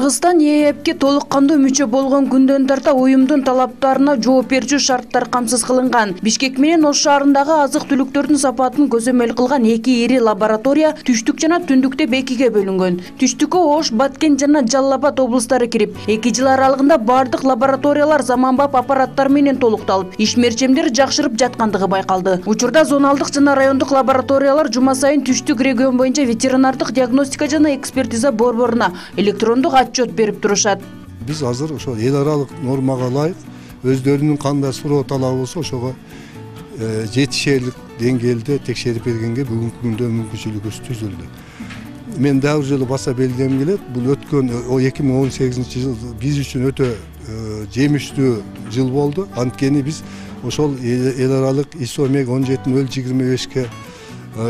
Кыргызстан ЕЭПке толук кандуу мүчө болгон күндөн тарта уюмдун талаптарына жооп берүүчү шарттар камсыз кылынган. Бишкек менен Ош шаарындагы азык-түлүктөрдүн сапатын көзөмөл кылган эки ири лаборатория түштүк жана түндүктө экиге бөлүнгөн. Түштүккө Ош, Баткен жана Жалал Абад облустары кирип, 2 жыл аралыгында бардык лабораториялар заманбап аппараттар менен толукталып, ишмерчемдер жакшырып жаткандыгы байкалды. Учурда зоналдык жана райондук лабораториялар жума сайын түштүк регион боюнча ветеринардык диагностика жана экспертиза борборуна электрондук отчет берип турушат. Биз азыр ошо эл аралык нормага ылайык өздөрүнүн кандай суроо талабы болсо ошого жетишерлик деңгээлде текшерип бергенге бүгүнкү күндө мүмкүнчүлүгүбүз түзүлдү. Мен дагы бир жолу баса белгилегим келет. Бул өткөн 2018-жыл биз үчүн өтө жемиштүү жыл болду. Анткени биз ошол эл аралык ISO 17/025ке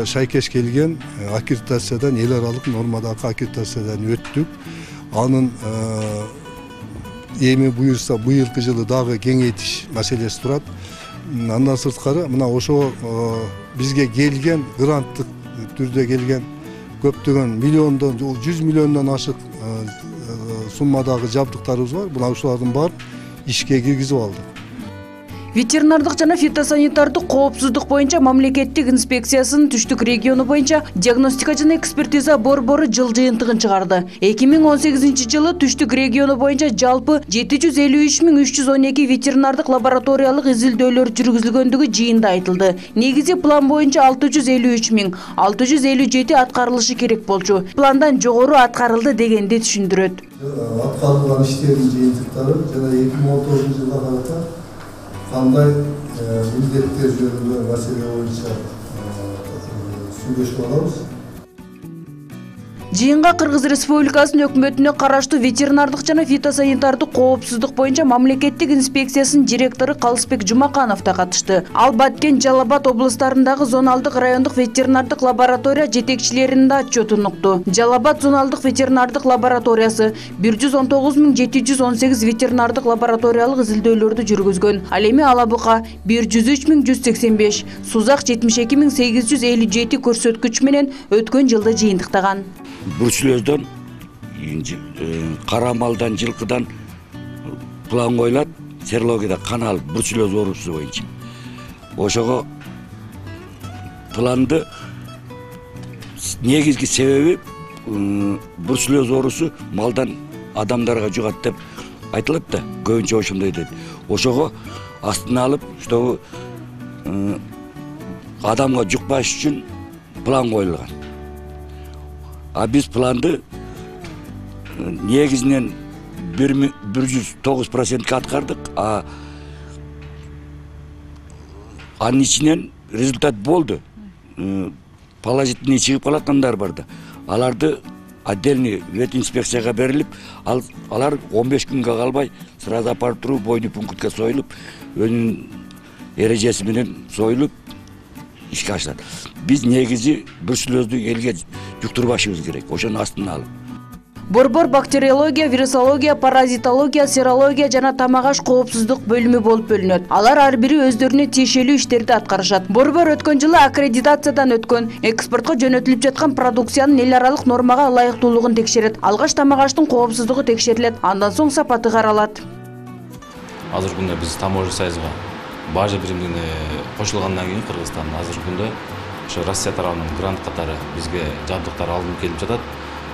шайкеш келген аккредитациядан, эл аралык нормадагы аккредитациядан өттүк. Анын эми буюрса быйылкы жылы дагы кеңейтиш маселеси турат. Андан сырткары мына ошо бизге келген гранттык түрдө келген көптөгөн миллиондон 100 миллиондон ашык суммадагы жабдыктарыбыз бар. Мына ушулардын баарын ишке киргизип алдык. Ветеринардык жана фитосанитардык коопсуздук боюнча мамлекеттик инспекциясынын Түштүк региону боюнча диагностика жана экспертиза борбору жыл жыйынтыгын чыгарды. 2018-жылы Түштүк региону боюнча жалпы 753.312 ветеринардык лабораториялык изилдөөлөр жүргүзүлгөндүгү жыйында айтылды. Негизи план боюнча 653.657 аткарылышы керек болчу. Пландан жогору аткарылды дегенди түшүндүрөт. Аткарылган иштердин жыйынтыктары жана 2019-жылга карата кандай милдеттер жөнүндө маселе боюнча сүйлөшүп алабыз. Жыйынга Кыргыз Республикасынын өкмөтүнө караштуу ветеринардык жана фитосанитардык коопсуздук боюнча мамлекеттик инспекциясынын директору Калысбек Жумаканов да катышты. Ал Баткен, Жалал Абад облустарындагы зоналдык райондук ветеринардык лаборатория жетекчилеринин да отчетун укту. Жалал Абад зоналдык ветеринардык лабораториясы 119.718 ветеринардык лабораториялык изилдөөлөрдү жүргүзгөн. Ал эми Ала Бука 103.185, Сузак 72.857 көрсөткүч менен өткөн жылды жыйынтыктаган. Бруцеллездан, кара малдан, жылкыдан план коюлат, серологияда кан алып бруцеллез оорусу боюнча. Ошого планды негизги себеби бруцеллез оорусу малдан адамдарга жугат деп айтылат да, көбүнчө ошондой дейт. Ошого астына алып, чтобы адамга жукпаш үчүн план коюлган. А биз планды негизинен 109%ка аткардык, анын ичинен результат болду. Положительный чыгып калаткандар бар да. Аларды отдельный ветинспекцияга берилип, алар 15 күнгө калбай сразу апарып туруп бойдуу пунктка союлуп, өнүн эрежеси менен союлуп ишке ашылат. Биз негизи бруцеллезду элге жуктурбашыбыз керек, ошонун астына алып. Борбор бактериология, вирусология, паразитология, серология жана тамак-аш коопсуздук бөлүмү болуп бөлүнөт. Алар ар бири өздөрүнө тиешелүү иштерди аткарышат. Борбор өткөн жылы аккредитациядан өткөн, экспортко жөнөтүлүп жаткан продукциянын эл аралык нормага ылайыктуулугун текшерет. Алгач тамак-аштын коопсуздугу текшерилет, андан соң сапаты каралат. Азыркы күндө биз таможня союзга бажа биримине кошулгандан кийин Кыргызстан азыркы күндө ошо Россия тарабынан грант катары бизге жабдыктар алынып келип жатат.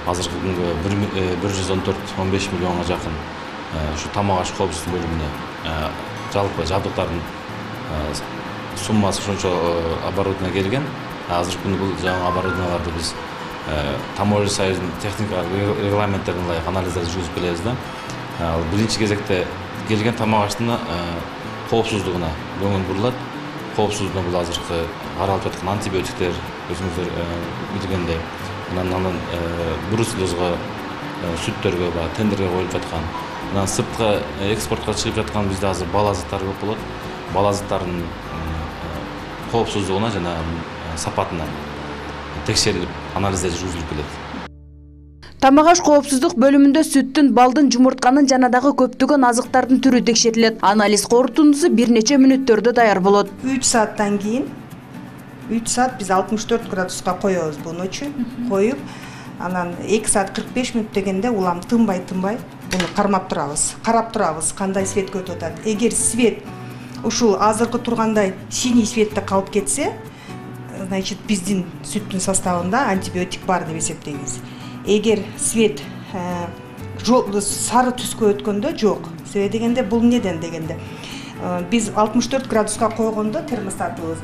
Азыркы күнгө 114-15 миллионго жакын ушу тамак-аш коопсуздук бөлүмүнө жалпы жабдыктардын суммасы ошончо оборудование келген. Азыркы күндө бул жаңы оборудованияларды биз таможня союзунун техникалык регламенттерине ылайык анализдерди жүргүзүп келебиз да. Биринчи кезекте келген тамак-аштын коопсуздугуна көңүл бурулат. Коопсуздугу бул азыркы каралып жаткан антибиотиктер, өзүңүздөр билгендей, анан бруцеллезго, сүттөргө, тендерге коюлуп жаткан, анан сыртка экспортко чыгып жаткан бизде азыр бала заттар көп болот. Бала заттардын коопсуздугуна жана сапатына текшерилип, анализдер жүргүзүлүп келет. Тамак-аш коопсуздук бөлүмүндө сүттүн, балдын, жумуртканын жана дагы көптөгөн азыктардын түрү текшерилет. Анализ корутундусу бир нече мүнөттөрдө даяр болот. 3 сааттан кийин 3 саат биз 64 градуска коебуз бу ночу. Коюп, Анан 2 саат 45 мүнөт дегенде улам тынбай буну кармап турабыз, карап турабыз, кандай свет өтүп атат. Эгер свет ушул азыркы тургандай синий светте калып кетсе, значит биздин сүттүн составында антибиотик бар деп эсептейбиз. Эгер свет сары түскө өткөндө жок. Себеби дегенде бул неден дегенде биз 64 градуска койгондо термостатыбыз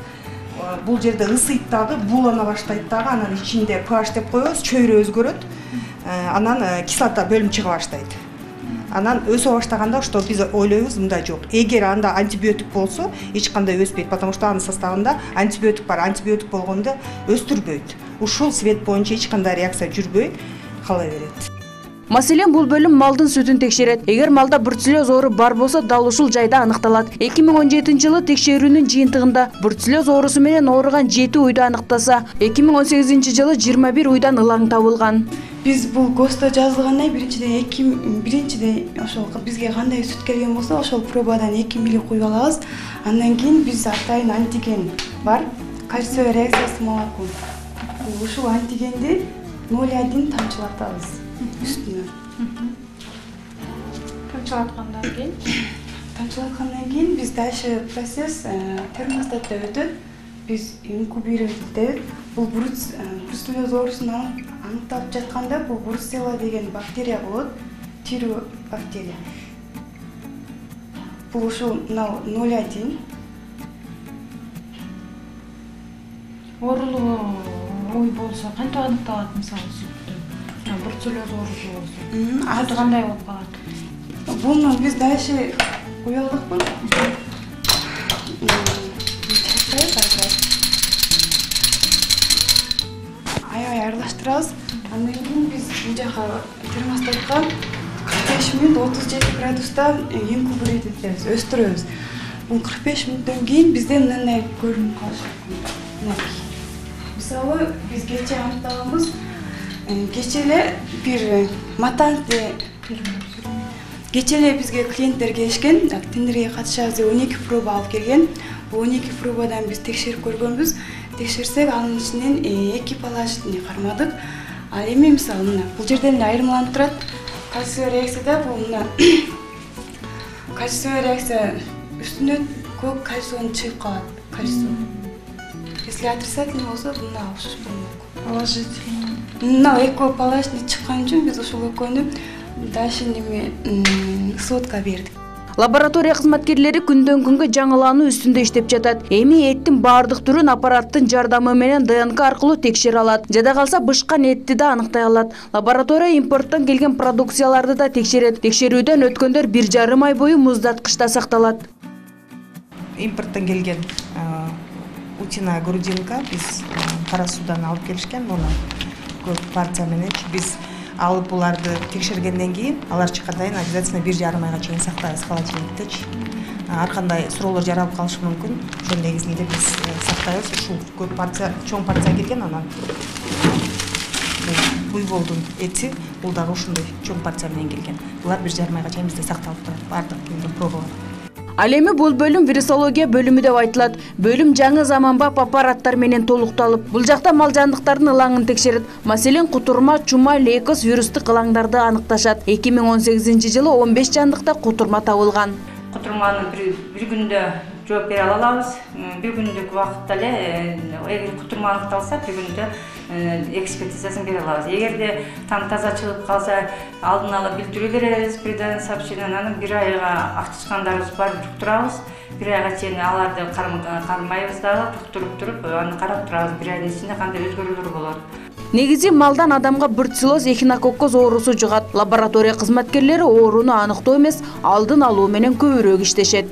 бул жерде ысыйт дагы, буулана баштайт дагы, анан ичинде pH деп коебуз, чөйрө өзгөрөт. Анан кислота бөлүм чыга баштайт. Анан өсө баштаганда что биз ойлойбуз мындай жок. Эгер анда антибиотик болсо, эч кандай өспөйт, потому что анын составында антибиотик бар. Антибиотик болгондо өстүрбөйт. Ушул свет боюнча эч кандай реакция жүрбөй кала берет. Маселен, бул бөлүм малдын сүтүн текшерет. Эгер малда бруцеллез оору бар болсо, дал ушул жайда аныкталат. 2017-жылы текшерүүнүн жыйынтыгында бруцеллез оорусу менен ооруган 7 уйду аныктаса, 2018-жылы 21 уйдан ылаң табылган. Биз бул ГОСТо жазылгандан биринчиден ошол бизге кандай сүт келген болсо, ошол пробадан 2 мили куюп алабыз. Андан кийин биз атайын антиген бар, кальций реакциясы молокон. Ушул антигенди 0,1 тамчылатабыз үстүнө. Тамчылаткандан кийин биз дальше процесс термостатта өтөт. Биз инкубировать. Бул бруцеллез оорусун аныкталып жатканда бул бруцелла деген бактерия болот, тирүү бактерия. Бул ушул 0,1 оорулуу ой болсо кантип аныкталат, мисалы сүттө? Бруцеллез оорусу болсо. Азыр кандай болуп калат? Буну биз дальше уялдыкпы? Аябай аралаштырабыз. Андан кийин биз бул жака термостатка 45 мүнөт 37 градуста инкубировать этебиз, өстүрөбүз. Бул 45 мүнөттөн кийин бизде мындай көрүнүп калышы. Мисалы биз кече аныктаганбыз. Кече эле бир матанты кече эле бизге клиенттер келишкен, тендерге катышабыз деп 12 проба алып келген. Бул 12 пробадан биз текшерип көргөнбүз. Текшерсек, анын ичинен 2 палачтын кармадык. Ал эми мисалы мына бул жерден эле айырмаланып турат. Кальций реакцияда бул мына кальций реакция үстүнө көк кальций чыгып калат. Кальций. Если отрицательный болсо, мына окшош болмок. Положительный. Мына эко палачный чыккан үчүн биз ушул экөөнү дальше сводка бердик. Лаборатория кызматкерлери күндөн күнгө жаңылануу үстүндө иштеп жатат. Эми эттин баардык түрүн аппараттын жардамы менен ДНК аркылуу текшере алат. Жада калса бышкан этти да аныктай алат. Лаборатория импорттон келген продукцияларды да текшерет. Текшерүүдөн өткөндөр 1,5 ай бою муздаткычта сакталат. Импорттон келген утиная грудинка биз Кара Суудан алып келишкен, муну көп партия менен биз алып буларды текшергенден кийин алар чыккандан кийин обязательно 1,5 айга чейин сактайбыз холодильниктечи. Ар кандай суроолор жаралып калышы мүмкүн. Ошол негизинде биз сактайбыз. Ушул көп партия, чоң партия келген, анан буйволдун эти, бул дагы ушундай чоң партия менен келген. Булар 1,5 айга чейин бизде сакталып турат, баардык келген пробалар. Ал эми бул бөлүм вирусология бөлүмү деп айтылат. Бөлүм жаңы заманбап аппараттар менен толукталып, бул жакта мал жандыктардын ылаңын текшерет. Маселен, кутурма, чума, лейкоз вирустук ылаңдарды аныкташат. 2018-жылы 15 жандыкта кутурма табылган. Кутурманы бир күндө жооп бере алабыз. Бир күндүк убакытта эле эгер кутурма аныкталса, бир күндө экспертизасын бере алабыз. Эгерде там таза чыгып калса, алдын ала билдирүү беребиз, придан сообщение, анан 1 айга актышкандарыбыз бар, туктурабыз. 1 айга чейин аларды кармайбыз дагы, туруп аны карап турабыз. 1 айдын ичинде кандай өзгөрүүлөр болот. Негизи малдан адамга бруцеллез эхинококкоз оорусу жугат. Лаборатория кызматкерлери ооруну аныктоо эмес, алдын алуу менен көбүрөөк иштешет.